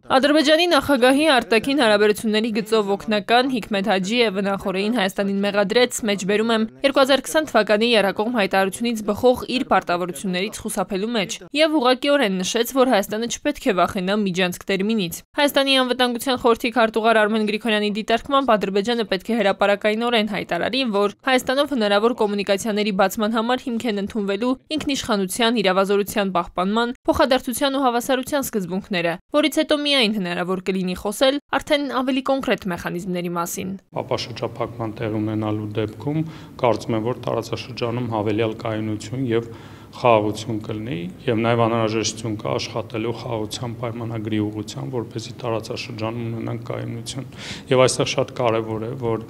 Ադրբեջանի նախագահի արտաքին հարաբերությունների գծով օգնական Հիկմետ Հաջիևը նախօրեին Հայաստանին մեղադրեց, մեջբերում եմ 2020 թվականի եռակողմ հայտարարությունից բխող իր պարտավորություններից խուսափելու մեջ եւ ուղղակիորեն նշեց, որ Հայաստանը չպետք է վախենա միջանցք տերմինից։ Հայաստանի անվտանգության խորհրդի քարտուղար Արմեն Գրիգորյանի դիտարկմամբ Ադրբեջանը պետք է հրապարակայնորեն հայտարարի, որ Հայաստանով հնարավոր կոմունիկացիաների բացման համար հիմք են ընդունվելու ինքնիշխանության, իրավազորության պահպանման, փոխադարձության ու հավասարության սկզբունքները, որից հետո միայն հնարավոր կլինի խոսել արդեն ավելի կոնկրետ մեխանիզմների մասին։ Ապաշրջափակման տեղ ունենալու դեպքում կարծում եմ, որ տարածաշրջանում հավելյալ կայունություն եւ խաղաղություն կլինի եւ նաեւ անհրաժեշտություն կա աշխատելու խաղաղության պայմանագրի ուղղությամբ, որպեսզի տարածաշրջանում ունենանք կայունություն։ Եվ այստեղ շատ կարեւոր է, որ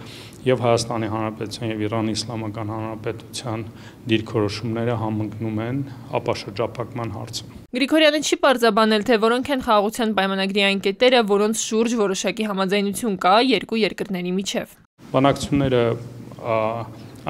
եւ Հայաստանի Հանրապետության եւ Իրանի Իսլամական Հանրապետության դիրքորոշումները համընկնում են ապաշրջափակման հարցում։ Գրիգորյանը չի պարզաբանել, թե որոնք են խաղաղության պայմանագրի այն կետերը, որոնց շուրջ որոշակի համաձայնություն կա երկու երկրների միջև։ Բանակցությունները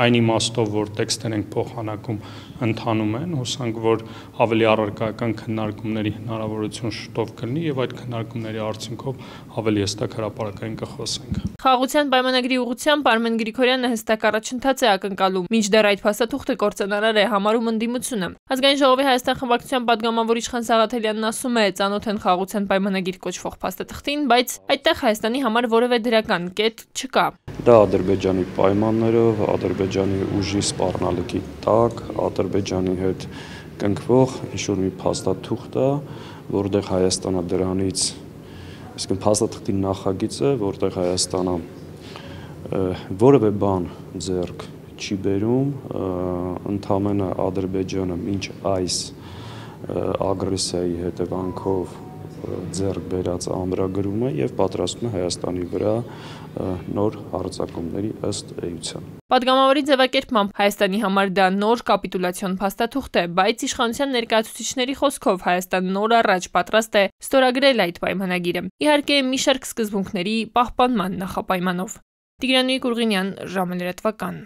այն իմաստով, որ տեքստեր ենք փոխանակում, ընթանում են, հուսանք, որ ավելի առարկայական քննարկումների հնարավորություն շուտով կլինի եւ այդ քննարկումների արդյունքով ավելի հստակ հրապարակային կխոսենք։ Խաղաղության պայմանագրի ուղղությամբ Արմեն Գրիգորյանը հստակ առաջընթաց է ակնկալում, մինչդեռ այդ փաստաթուղթը կործանարար է համարում ընդդիմությունը։ Ազգային ժողովի Հայաստան խմբակցության падգամավոր Իշխան Սաղաթելյանն ասում է, ծանոթ են խաղաղության պայմանագիր կոչվող փաստաթղթին, բայց այդտեղ Հայաստանի համար որևէ դրական կետ չկա։ Դա Ադրբեջանի պայմաններով, Ադրբեջանի ուժի սպառնալիքի տակ, Ադրբեջանի հետ կնքվող ինչ-որ մի փաստաթուղթ է, որտեղ Հայաստանը դրանից, այսինքն փաստաթղթի նախագիծը, որտեղ Հայաստանը որևէ բան ձեռք չի բերում, ընդամենը Ադրբեջանը մինչ այս ագրեսիայի հետևանքով ձեռք բերած ամրագրումը եւ պատրաստում է Հայաստանի վրա նոր հարձակումների ըստ էության։ Падգամավորի ձևակերպմամբ Հայաստանի համար դա նոր կապիտուլյացիոն փաստաթուղթ է, բայց իշխանության ներկայացուցիչների խոսքով Հայաստանը նոր առաջ պատրաստ է ստորագրել այդ պայմանագիրը։ Իհարկե, մի շարք սկզբունքների պահպանման նախապայմանով։ Տիգրան Գուրգենյան, ժամը լրատվական։